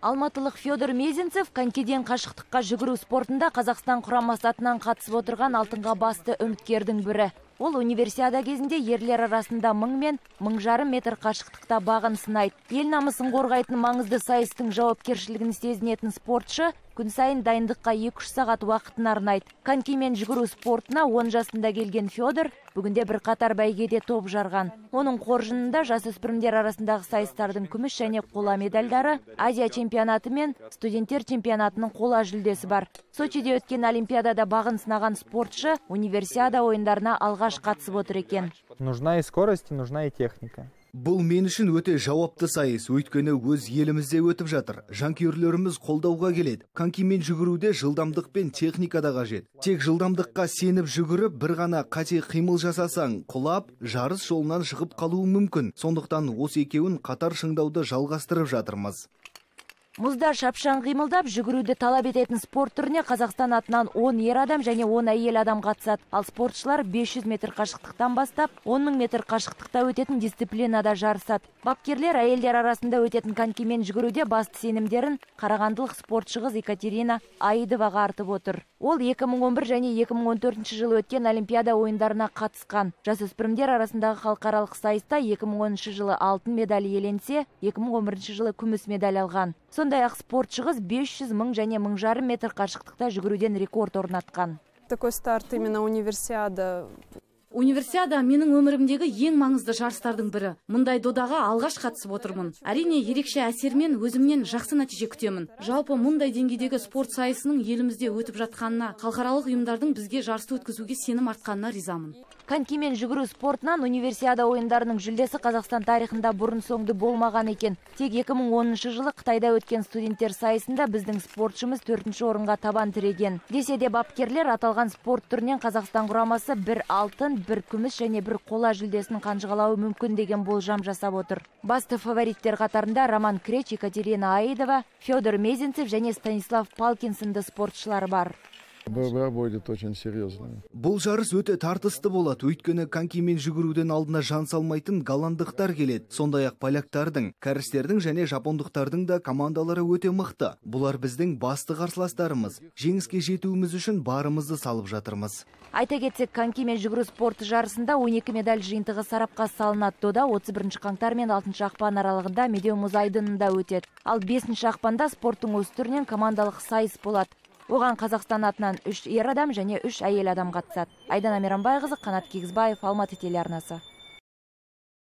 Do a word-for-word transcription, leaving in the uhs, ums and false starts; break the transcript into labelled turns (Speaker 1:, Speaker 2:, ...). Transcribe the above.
Speaker 1: Алматылық Федор Мезенцев конькиден қашықтыққа жүгіру спортында Қазақстан құрамасы атынан қатысып отырған алтынға басты үміткердің бірі. Ол универсиада кезінде ерлер арасында мың мен мың жарым метр қашықтықта бағын сынайды. Ел намысын қорғайтын маңызды сайыстың жауапкершілігін сезінетін спортшы күн сайын дайындыққа екі үш сағат уақытын арнайды. Конькимен жүгіру спортына он жасында келген Федор бүгінде бір қатар бәйгеде топ жарған. Оның қоржынында жасөспірімдер арасындағы сайыстардың күміс және қола медальдары, Азия чемпионаты мен студенттер чемпионатының қола жүлдесі бар. Сочиде өткен олимпиадада бағын сынаған спортшы универсиада ойындарына алғаш қатысып отыр екен.
Speaker 2: Нужна и скорость, и нужна и техника.
Speaker 3: Бұл мен үшін өте жауапты сайыс, өйткені өз елімізде өтіп жатыр. Жанкүйерлеріміз қолдауға келеді. Конькимен жүгіруде жылдамдық пен техника да қажет. Тек жылдамдыққа сеніп жүгіріп, бір ғана қате қимыл жасасаң, құлап, жарыс жолынан шығып қалуы мүмкін. Сондықтан осы екеуін қатар шыңдауды жалғастырып жатырмыз.
Speaker 1: Мұзда шапшаң қимылдап жүгіруді талап ететін спорт түріне Қазақстан атынан он ер адам және он әйел адам қатысады. Ал спортшылар бес жүз метр қашықтықтан бастап он мың метр қашықтықта өтетін дисциплинада жарысады. Бапкерлер әйелдер арасында өтетін конькимен жүгіруде басты сенімдерін қарағандылық спортшы қыз Екатерина Аидоваға артып отыр. Ол екі мың он бір және екі мың он төртінші жылы өткен олимпиада ойындарына қатысқан. Жасөспірімдер арасындағы халықаралық сайыста екі мың оныншы жылы алтын медаль иеленсе, екі мың он бірінші жылы күміс медаль алған. Сондай-ақ спортшы қыз бес жүз мың және мың жарым метр қашықтықта жүгіруден рекорд орнатқан.
Speaker 4: Такой старт именно универсиада.
Speaker 5: Универсиада менің өмірімдегі ең маңызды жарыстардың бірі. Мұндай додаға алғаш қатысып отырмын. Әрине, ерекше әсермен өзімнен жақсы нәтиже күтемін. Жалпы мұндай деңгейдегі спорт сайысының елімізде өтіп жатқанына, халықаралық ұйымдардың бізге жарысты өткізуге сенім артқанына ризамын.
Speaker 1: Конькимен жүгіру спортынан универсиада ойындарының жүлдесі Қазақстан тарихында бұрын соңды болмаған екен. Тек екі мың оныншы жылы Қытайда өткен студенттер сайысында біздің спортшымыз төртінші орынға табан тіреген. Десе де бапкерлер аталған спорт түрінен Қазақстан құрамасы бір алтын, бір күміс және бір қола жүлдесін қанжығалауы мүмкін деген болжам жасап отыр. Басты фавориттер қатарында Роман Креч, Екатерина Аидова, Федор Мезенцев және Станислав Палкин сынды спортшылар бар.
Speaker 6: Будет очень серьезно.
Speaker 3: Бұл жарыс өте тартысты болады, өйткені конькимен жүгіруден алдына жан салмайтын голландықтар келеді. Сондай-ақ поляктардың, кәрістердің және жапондықтардың да командалары өте мықты. Бұлар біздің басты қарсыластарымыз. Жеңіске жетуіміз үшін барымызды салып жатырмыз.
Speaker 1: Айта кетсек, конькимен жүгіру спорты жарысында он екі медаль жиынтығы сарапқа салынады. Дода отыз бірінші қаңтар мен алтыншы ақпан аралығында Медеу мұз айдынында өтеді. Ал бесінші ақпанда спорттың осы түрінен командалық сайыс болады. Оған Қазақстан атынан үш ер адам және үш әйел адам қатысады. Айдана Мейрамбайқызы, Қанат Кигізбаев, Алматы телеарнасы.